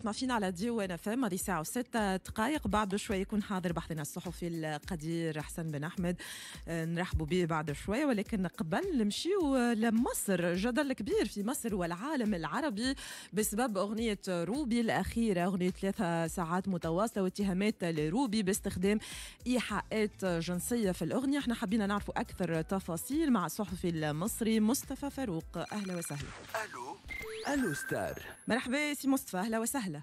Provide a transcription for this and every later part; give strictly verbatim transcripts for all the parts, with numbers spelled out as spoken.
تسمع فينا على ديوان اف ام، هذه ساعة وستة دقائق. بعد شوي يكون حاضر بحثنا الصحفي القدير حسن بن أحمد، نرحبوا به بعد شوي، ولكن قبل نمشيو لمصر. جدل كبير في مصر والعالم العربي بسبب أغنية روبي الأخيرة، أغنية ثلاثة ساعات متواصلة، واتهامات لروبي باستخدام إيحاءات جنسية في الأغنية. احنا حبينا نعرفوا أكثر تفاصيل مع الصحفي المصري مصطفى فاروق. أهلا وسهلا. ألو ألو ستار. مرحبا سي مصطفى، أهلا وسهلا.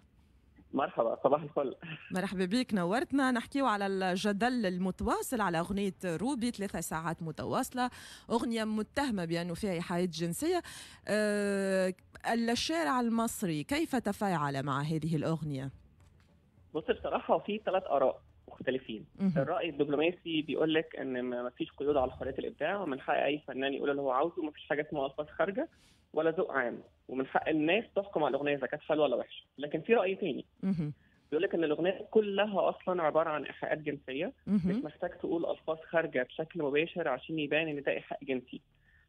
مرحبا، صباح الفل. مرحبا بك، نورتنا. نحكيو على الجدل المتواصل على أغنية روبي ثلاثة ساعات متواصلة، أغنية متهمة بأنه فيها إيحاءات جنسية. أه الشارع المصري كيف تفاعل مع هذه الأغنية؟ بص، بصراحة في ثلاث آراء مختلفين. الرأي الدبلوماسي بيقول لك إن ما فيش قيود على حرية الإبداع، ومن حق أي فنان يقول اللي هو عاوزه، وما فيش حاجة اسمها ألفاظ خارجة ولا ذوق عام، ومن حق الناس تحكم على الأغنية إذا كانت حلوة ولا وحشة. لكن في رأي تاني بيقول لك إن الأغنية كلها أصلا عبارة عن إيحاءات جنسية، مش محتاج تقول ألفاظ خارجة بشكل مباشر عشان يبان إن ده إيحاء جنسي.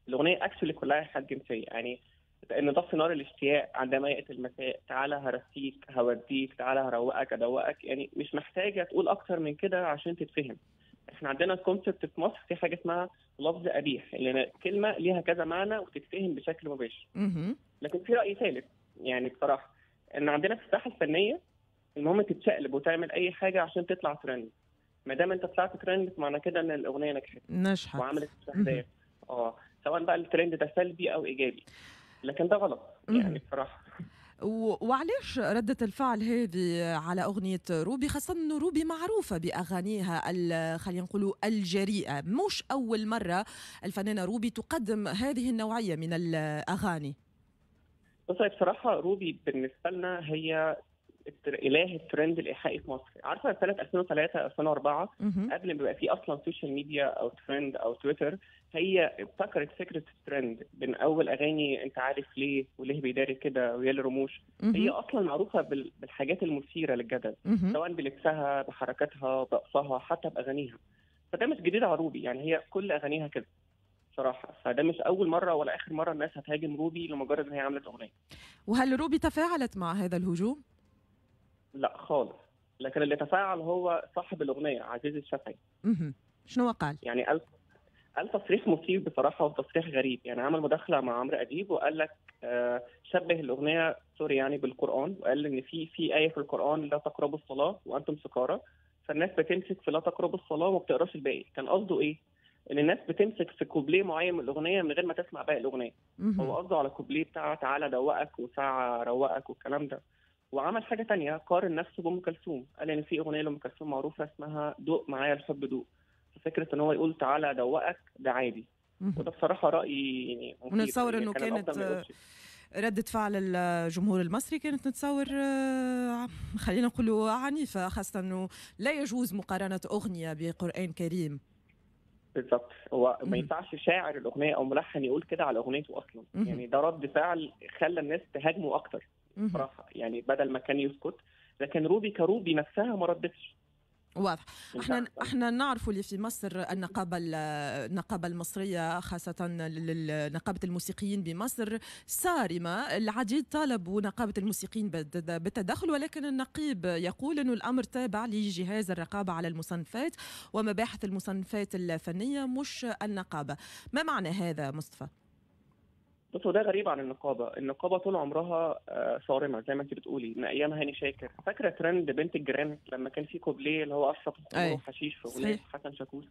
الأغنية actually كلها إيحاءات جنسية، يعني إن طفي نار الاشتياق عندما يأتي المساء، تعالى هرسيك هوديك، تعالى هروقك أدوقك، يعني مش محتاجة تقول أكتر من كده عشان تتفهم. احنا عندنا concept في مصر في حاجة اسمها لفظ قبيح، اللي كلمة ليها كذا معنى وتتفهم بشكل مباشر. لكن في رأي ثالث، يعني بصراحة إن عندنا في الساحة الفنية المهم تتشقلب وتعمل أي حاجة عشان تطلع ترند. ما دام أنت طلعت ترند معنى كده إن الأغنية نجحت نجحت وعملت مشاهدات، اه سواء بقى الترند ده سلبي أو إيجابي، لكن ده غلط يعني بصراحة. وعلاش ردة الفعل هذه على أغنية روبي، خاصة أنه روبي معروفة بأغانيها خلينا نقولوا الجريئة؟ مش أول مرة الفنانة روبي تقدم هذه النوعية من الأغاني. بص، بصراحة روبي بالنسبة لنا هي إله الترند الإيحائي في مصر. عارفة سنة ألفين وثلاثة ألفين وأربعة قبل ما يبقى في أصلا social media أو ترند أو تويتر، هي ابتكرت فكرة الترند من أول أغاني أنت عارف ليه وليه بيداري كده ويا الرموش. هي أصلا معروفة بالحاجات المثيرة للجدل، سواء بلبسها بحركاتها برقصها حتى بأغانيها. فده مش جديد على روبي، يعني هي كل أغانيها كده صراحة. فده مش أول مرة ولا آخر مرة الناس هتهاجم روبي لمجرد إن هي عملت أغنية. وهل روبي تفاعلت مع هذا الهجوم؟ لا خالص، لكن اللي تفاعل هو صاحب الأغنية عزيز الشافعي. اها، شنو قال؟ يعني قال قال تصريح مثير بصراحة وتصريح غريب. يعني عمل مداخلة مع عمرو أديب وقال لك آه شبه الأغنية sorry يعني بالقرآن، وقال إن في في آية في القرآن لا تقربوا الصلاة وأنتم سكارى، فالناس بتمسك في لا تقربوا الصلاة وما بتقراش الباقي. كان قصده إيه؟ إن الناس بتمسك في كوبليه معين من الأغنية من غير ما تسمع باقي الأغنية. هو قصده على كوبليه بتاع تعالى دوقك وساعة روقك والكلام ده. وعمل حاجة تانية، قارن نفسه بأم كلثوم، قال إن في أغنية لأم كلثوم معروفة اسمها دوق معايا الحب دوق، ففكرة إن هو يقول تعالى دوقك ده عادي. وده بصراحة رأيي يعني. ونتصور إنه كانت ردة فعل الجمهور المصري كانت نتصور خلينا نقولوا عنيفة، خاصة إنه لا يجوز مقارنة أغنية بقرآن كريم. بالظبط، هو ما ينفعش شاعر الأغنية أو ملحن يقول كده على أغنيته أصلا. يعني ده رد فعل خلى الناس تهاجمه أكتر بصراحة، يعني بدل ما كان يسكت. لكن روبي كروبي نفسها ما ردتش. واضح. احنا احنا نعرف اللي في مصر النقابة النقابة المصرية، خاصة نقابة الموسيقيين بمصر صارمة، العديد طالبوا نقابة الموسيقيين بالتدخل، ولكن النقيب يقول انه الامر تابع لجهاز الرقابة على المصنفات ومباحث المصنفات الفنية مش النقابة. ما معنى هذا مصطفى؟ بص، ده غريب عن النقابة. النقابة طول عمرها صارمة زي ما انت بتقولي، من ايام هاني شاكر. فاكره ترند بنت الجيران لما كان في كوبليه اللي هو اشرب خمور وحشيش في اغنية حسن شاكوش؟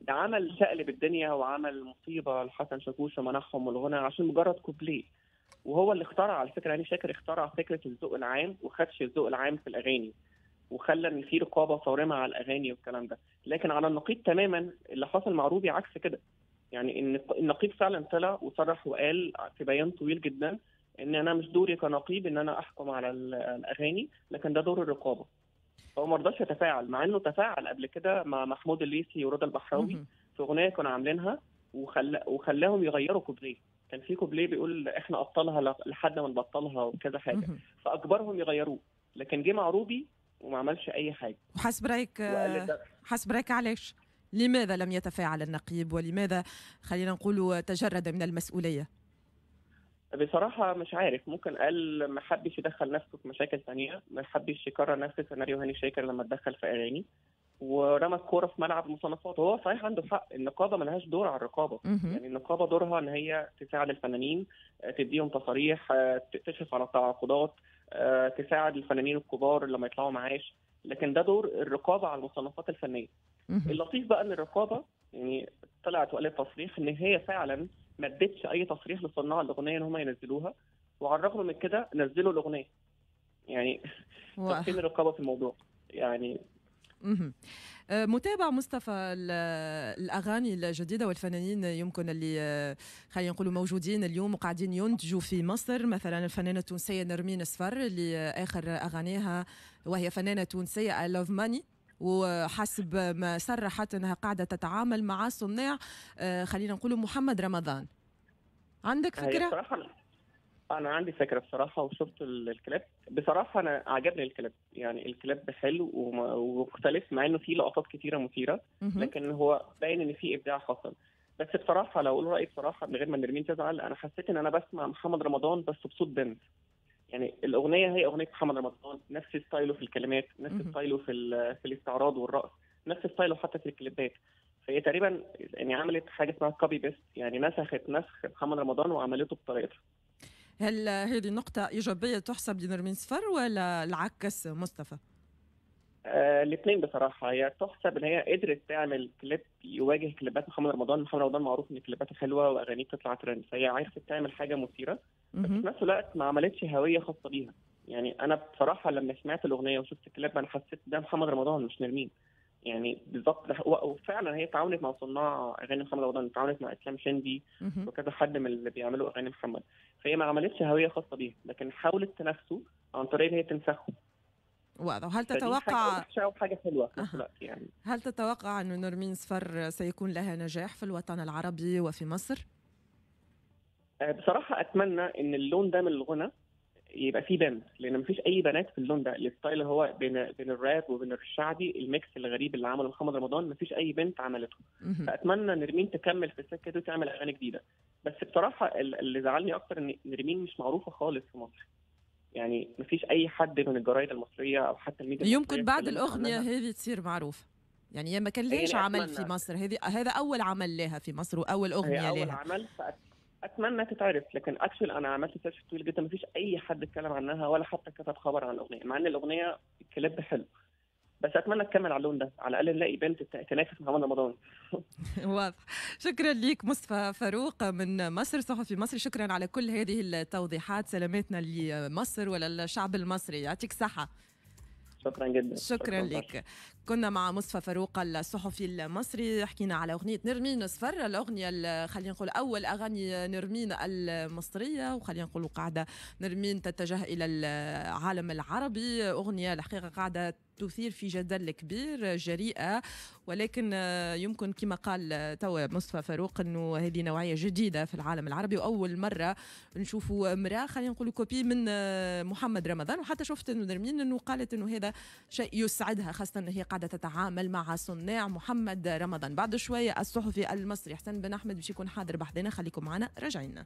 ده عمل شقلب الدنيا وعمل مصيبة لحسن شاكوش ومنعهم الغنى عشان مجرد كوبليه. وهو اللي اخترع على فكرة، هاني شاكر اخترع فكرة الذوق العام وخدش الذوق العام في الاغاني، وخلى ان في رقابه صارمة على الاغاني والكلام ده. لكن على النقيض تماما اللي حصل مع روبي عكس كده. يعني ان النقيب فعلا طلع وصرح وقال في بيان طويل جدا ان انا مش دوري كنقيب ان انا احكم على الاغاني، لكن ده دور الرقابة. هو ما رضاش يتفاعل، مع انه تفاعل قبل كده مع محمود الليثي ورضا البحراوي في اغنية كانوا عاملينها وخل... وخلاهم يغيروا كوبليه. كان في كوبليه بيقول احنا ابطالها لحد ما نبطلها وكذا حاجة، فاجبرهم يغيروه. لكن جه مع روبي وما عملش اي حاجة. وحسب رايك حسب رايك علاش؟ لماذا لم يتفاعل النقيب، ولماذا خلينا نقول تجرد من المسؤولية؟ بصراحة مش عارف، ممكن قال ما حبش يدخل نفسه في مشاكل ثانية، ما حبش يكرر نفس سيناريو هاني شاكر لما اتدخل في اغاني ورمى الكورة في ملعب المصنفات. وهو صحيح عنده حق، النقابة ملهاش دور على الرقابة. يعني النقابة دورها ان هي تساعد الفنانين، تديهم تصاريح، تشرف على التعاقدات، تساعد الفنانين الكبار لما يطلعوا معاش، لكن ده دور الرقابة على المصنفات الفنية. اللطيف بقى ان الرقابة يعني طلعت وقالت تصريح ان هي فعلا ما ادتش اي تصريح لصناع الاغنية ان هم ينزلوها، وعلى الرغم من كده نزلوا الاغنية. يعني طب فين الرقابة في الموضوع؟ يعني متابع مصطفى الأغاني الجديدة والفنانين يمكن اللي خلينا نقولوا موجودين اليوم وقاعدين ينتجوا في مصر، مثلا الفنانة التونسية نرمين صفر اللي آخر أغانيها وهي فنانة تونسية I love money، وحسب ما صرحت أنها قاعدة تتعامل مع صناع خلينا نقولوا محمد رمضان. عندك فكرة؟ بصراحة أنا عندي فكرة بصراحة، وشفت الكليب بصراحة أنا عجبني الكليب، يعني الكليب حلو ومختلف مع إنه فيه لقطات كتيرة مثيرة، لكن هو باين إن فيه إبداع حصل. بس بصراحة لو أقول رأيي بصراحة من غير ما نرمين تزعل، أنا حسيت إن أنا بسمع محمد رمضان بس بصوت بنت. يعني الأغنية هي أغنية محمد رمضان، نفس style ه في الكلمات، نفس style ه في في الاستعراض والرقص، نفس style ه حتى في الكليبات. فهي تقريبا يعني عملت حاجة اسمها copy paste، يعني نسخت نسخ محمد رمضان وعملته بطريقتها. هل هذه نقطة إيجابية تحسب لنرمين صفر ولا العكس مصطفى؟ آه، الاثنين بصراحة. هي تحسب إن هي قدرت تعمل كليب يواجه كليبات محمد رمضان. محمد رمضان معروف إن كليباته حلوة وأغانيه بتطلع ترند، فهي عرفت تعمل حاجة مثيرة، بس في نفس الوقت ما عملتش هوية خاصة بيها. يعني أنا بصراحة لما سمعت الأغنية وشفت الكليب أنا حسيت ده محمد رمضان مش نرمين، يعني بالظبط. وفعلا هي تعاونت مع صناع اغاني محمد رمضان، تعاونت مع اسلام شندي وكذا حد من اللي بيعملوا اغاني محمد، فهي ما عملتش هوية خاصة بيها، لكن حاولت تنافسه عن طريق ان هي تنسخه. واضح. هل تتوقع حاجة وحاجه حلوة في نفس الوقت؟ يعني هل تتوقع ان نرمين صفر سيكون لها نجاح في الوطن العربي وفي مصر؟ بصراحة اتمنى ان اللون ده من الغنى يبقى فيه بنت، لان مفيش اي بنات في اللون ده. ال style هو بين بين الراب وبين الشعبي، ال mix الغريب اللي عمله محمد رمضان مفيش اي بنت عملته. فاتمنى نرمين تكمل في السكة دي وتعمل اغاني جديدة. بس بصراحة اللي زعلني اكتر ان نرمين مش معروفة خالص في مصر، يعني مفيش اي حد من الجرايد المصرية او حتى الميديا. يمكن بعد الاغنية هذه تصير معروفة، يعني يا ما كان ليش يعني عمل في مصر، هذه هذا اول عمل لها في مصر واول اغنية لها. اول عمل، اتمنى تتعرف. لكن actually انا عملت search طويل جدا مفيش اي حد اتكلم عنها ولا حتى كتب خبر عن الاغنية، مع ان الاغنية الكليب حلو. بس اتمنى تكمل على اللون ده، على الاقل نلاقي بنت تنافس محمد رمضان. واضح. شكرا لك مصطفى فاروق من مصر، صحفي مصري، شكرا على كل هذه التوضيحات. سلاماتنا لمصر وللشعب المصري، يعطيك صحة. شكرا جدا. شكرا, شكرا لك. كنا مع مصطفى فاروق الصحفي المصري، حكينا على أغنية نرمين صفر، الأغنية خلينا نقول أول أغاني نرمين المصرية، وخلينا نقول قاعدة نرمين تتجه إلى العالم العربي. أغنية الحقيقة قاعدة تثير في جدل كبير، جريئة، ولكن يمكن كما قال توا مصطفى فاروق أنه هذه نوعية جديدة في العالم العربي، وأول مرة نشوفوا امرأة خلينا نقول copie من محمد رمضان. وحتى شفت أنه نرمين أنه قالت أنه هذا شيء يسعدها، خاصة أنه هي قاعدة تتعامل مع صناع محمد رمضان. بعد شوية الصحفي المصري حسن بن أحمد باش يكون حاضر بحذنا، خليكم معنا راجعين.